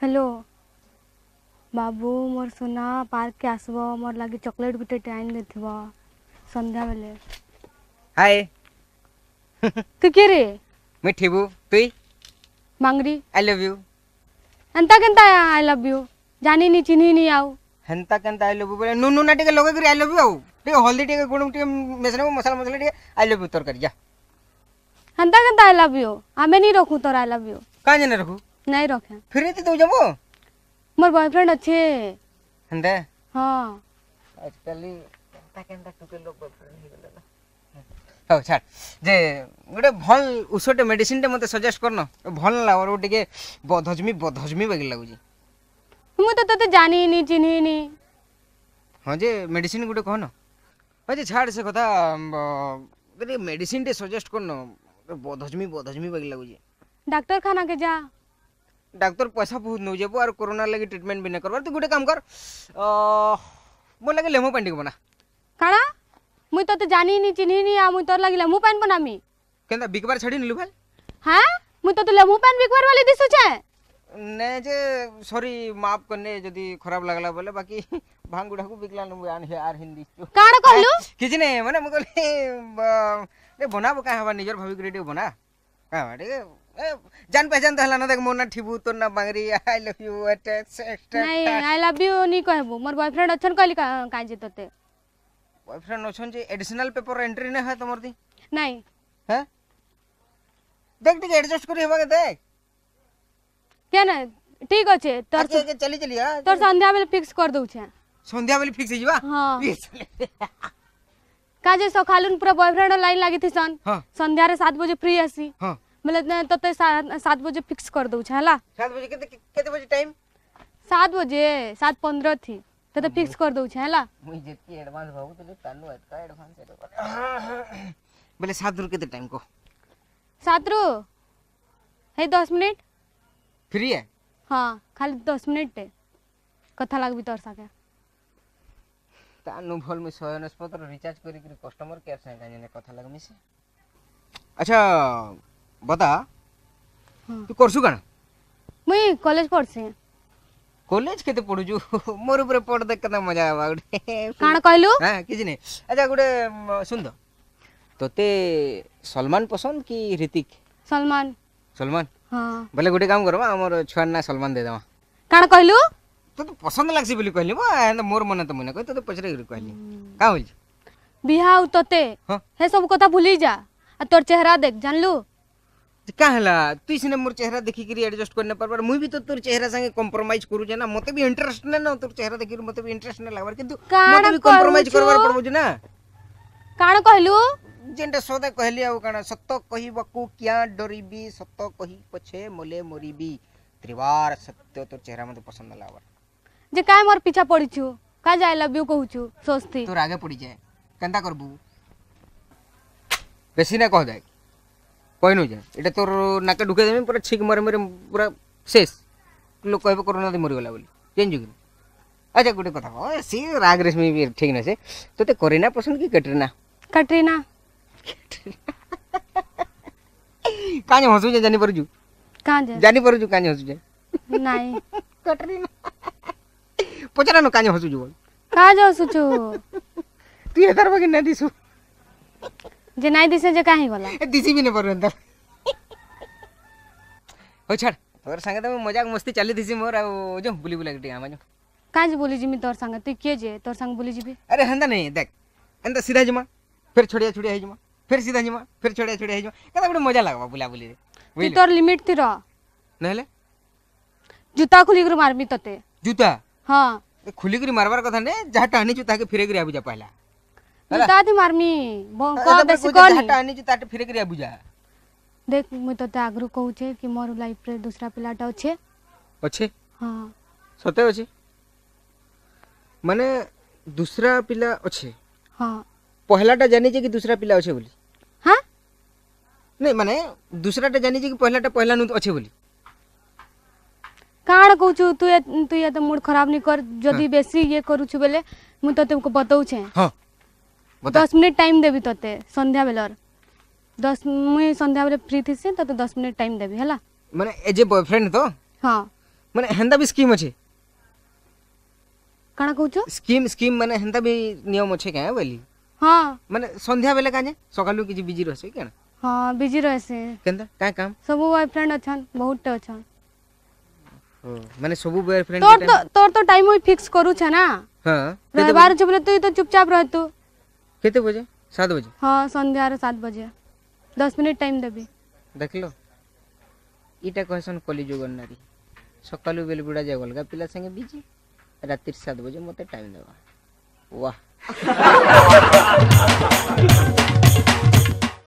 Hello बाबू मोर सोना park के आसबो मोर लागी चॉकलेट गुटे टाइम देथिबो संध्या बेले। हाय तू के रे? मैं ठेबू तुई मांगरी। I love you. एंता केंता I love you जानी नी चिन्ही नी आउ हेंता केंता I love you बोले नुनु ना टिके लगे करी I love you आउ टिके हल्दी टिके गुण टिके मेसने मसाला मसाला टिके I love you तरकारी जा हेंता केंता I love you आमे नी रखू तोर I love you. काहे ने रखू? नहीं रखे। फिर ते दउ जमो मोर बॉयफ्रेंड अच्छे हेंता। हां आजकल केंता केंता टुके लोग बॉयफ्रेंड हे गेला ना। हो छाड़ जे गोटे भल उषटे मेडिसिन टे मते सजेस्ट करन भल लागो टिके बदहजमी बदहजमी बाकी लागुची। मु तो तते जानी नी चिन्ही नी। हां जे मेडिसिन गोटे कहन जे छाड़ से कथा गोटे मेडिसिन टे सजेस्ट करन बदहजमी बदहजमी बाकी लागुची। डॉक्टर खाना के जा। डॉक्टर पैसा बहुत नउ जेबो और कोरोना लगी ट्रीटमेंट भी न करवार। तू गोटे काम कर मोर लगे लेमो पानी बना। काणा मुई तो जानी नी चिन्ही नी आ मुई तोर लगी लेमो पानी बनामी केंदा बिकबार छाड़ी निलु भाल। हां मुई तो लेमो पानी बिकबार वाली दिसु छे ने जे सॉरी माफ करने जदी खराब लागला बोले बाकी भांग गुडा को बिकला नु आन हे are Hindi काण कहलु किछि ने माने मु कहली रे बनाबो का हवा निजर भाभी ग्रेड बना का रे जान पहचान तो हला ना देख मोर ना ठिबू तोर ना बांगरी I love you eight नहीं I love you नी कहबो मोर बॉयफ्रेंड अछन कहली का जे तते बॉयफ्रेंड अछन जे एडिशनल पेपर एंट्री ने है तमर दी नहीं हैं देख टिके एडजस्ट करी हेबा के देख के ना ठीक अछि तोर के चली चली हां तोर संध्या बेले फिक्स कर दउ छे। संध्या बेले फिक्स हो जीवा। हां का जे सकालुन पूरा बॉयफ्रेंड लाइन लागी थी सन। हां संध्या रे 7 बजे फ्री आसी। हां बोले तते 7 बजे फिक्स कर दउ छे हला। 7 बजे केते केते बजे टाइम? 7 बजे 7:15 थी तते फिक्स कर दउ छे हला। मुई जेतकी एडवांस भाबु तले तानु एतका एडवांस बोले 7 रु केते टाइम को? 7 रु हे 10 मिनट फ्री है। हां खाली 10 मिनट कथा लागबी तोर साथे तानु भल में 100 रिचार्ज करी करी कस्टमर केयर संगे जाने कथा लागमी से। अच्छा बता तू करसु काण? मुई कॉलेज पढ़सी। कॉलेज केते पढुछु? मोर ऊपर पढ़ देख केना मजा आवा गोटे। काण कहलु? हां किछि नै। अच्छा गोटे सुन दो तोते सलमान पसंद कि ऋतिक? सलमान। सलमान? हां बोले गोटे काम करबा हमर छुआर ना सलमान दे देवा। काण कहलु? तो पसंद लागसी बोली कहली बा मोर मन त मन कह तो पछरे कहली का होल बिहा उ तोते हे सब कथा भूली जा आ तोर चेहरा देख जानलु का हला तू सिने मोर चेहरा देखि करी एडजस्ट करने परबर मुई भी तो तोर चेहरा संगे कॉम्प्रोमाइज करू जे ना मते भी इंटरेस्ट ने ना तोर चेहरा देखि मते भी इंटरेस्ट ने लागबर किंतु मते भी कॉम्प्रोमाइज करबार पड़बो जे ना। काण कहलु? जेंटा सदा कहली आउ काण सत कहिबकु क्या डरिबी सत कहि पछे मोले मरिबी त्रिवार सत्य तोर चेहरा मते पसंद लागबर जे काय मोर पीछा पड़ी छु का I love you कहु छु सोचती तोर आगे पड़ी जाए केंता करबू बेसी ना कह जाए कहनु जे एटा तोर नाके ढुके देमी पूरा छिक मरे मरे पूरा शेष लोक कहबे कोरोना दे मरि गेला बोली चेंज कि। अच्छा गोटे कथा कह सी राग रेशमी भी ठीक ना से तोते करीना पसंद कि कैटरीना? कैटरीना। काहे हसु जे जानि परजु? काहे जानि परजु काहे हसु जे? नहीं कैटरीना पचरानो काहे हसु जो? काहे हसु छु तू एतार बाकी ना दिसु जे नहीं दिसे जे काहे गला ए दिसी भी ने पर अंदर हो छाड़ तोर संगे त मजाक मस्ती चाली दिसी मोर आ जो बुली बुला के आमा जो काहे जे बोली जिमी तोर संगे तू के जे तोर संग बोली जिबी? अरे हंदा नहीं देख अंदा सीधा जमा फिर छोड़िया छोड़िया हे जमा फिर सीधा जमा फिर छोड़िया छोड़िया हे जमा कदा बड़े मजा लागबा बुला बुली रे। तू तोर लिमिट ती रह नहले जूता खुली कर मारबी तते। जूता? हां खुली कर मारबार कथा ने जा टानी जूता के फिरे कर आबु जा पहला जूता थी मारमी को बेसी कोनी जा टानी जूता के फिरे कर आबु जा। देख मुई तते आगरू कहू छे कि मोर लाइफ रे दूसरा पिलाटा अछि। अछि? हां सते अछि माने दूसरा पिला अछि? हां पहलाटा जानी जे कि दूसरा पिला अछि बोली? हां नहीं माने दूसराटा जानी जे कि पहलाटा पहला नु अछि बोली। काण कहू तू तू ये तो मूड खराब नहीं कर जदी बेसी ये करू छु बेले मु तते को बताउ छे। हां 10 मिनट टाइम देबी तते संध्या बेलर 10 मुई संध्या बेले फ्री थिसी तते 10 मिनट टाइम देबी हला माने एज ए बॉयफ्रेंड तो। हां ମାନେ ହେନ୍ତା ବି ସ୍କିମ୍ ଅଛେ? କାଣା କହୁଛୁ? ସ୍କିମ୍, ସ୍କିମ୍ ମାନେ ହେନ୍ତା ବି ନିୟମ ଅଛେ କାଁ ବୋଲି। ହଁ। ମାନେ ସନ୍ଧ୍ୟା ବେଲେ କାଁଜେ, ସକାଳୁ କିଛି ବିଜି ରହсе କାଣା? ହଁ, ବିଜି ରହେସି। କେନ୍ତା, କାଁ କାମ? ସବୁ ବୟଫ୍ରେଣ୍ଡ ଅଛନ୍, ବହୁତଟେ ଅଛନ୍। ମାନେ ସବୁ ବୟଫ୍ରେଣ୍ଡ? ତୋର ତ ଟାଇମ୍ ମୁଇଁ ଫିକ୍ସ କରୁଛେ ନା। ହଁ। ରହିବାର ଅଛି ବୋଲେ ତୁଇ ତ ଚୁପଚାପ ରହତୁ। କେତେ ବଜେ? 7 ବଜେ? ହଁ, ସନ୍ଧ୍ୟାର 7 ବଜେ। 10 ମିନିଟ୍ ଟାଇମ୍ ଦେବି। ଦେଖିଲ, ଇଟା କହେସନ୍ କଲିଯୁଗର ନାରୀ। ସକାଳୁ ବେଲ ବୁଡ଼ା ଯାଏ ଅଲଗା ପିଲା ସାଙ୍ଗେ ବିଜି, ରାତିର 7 ବଜେ ମତେ ଟାଇମ୍ ଦେବା। ୱାହ।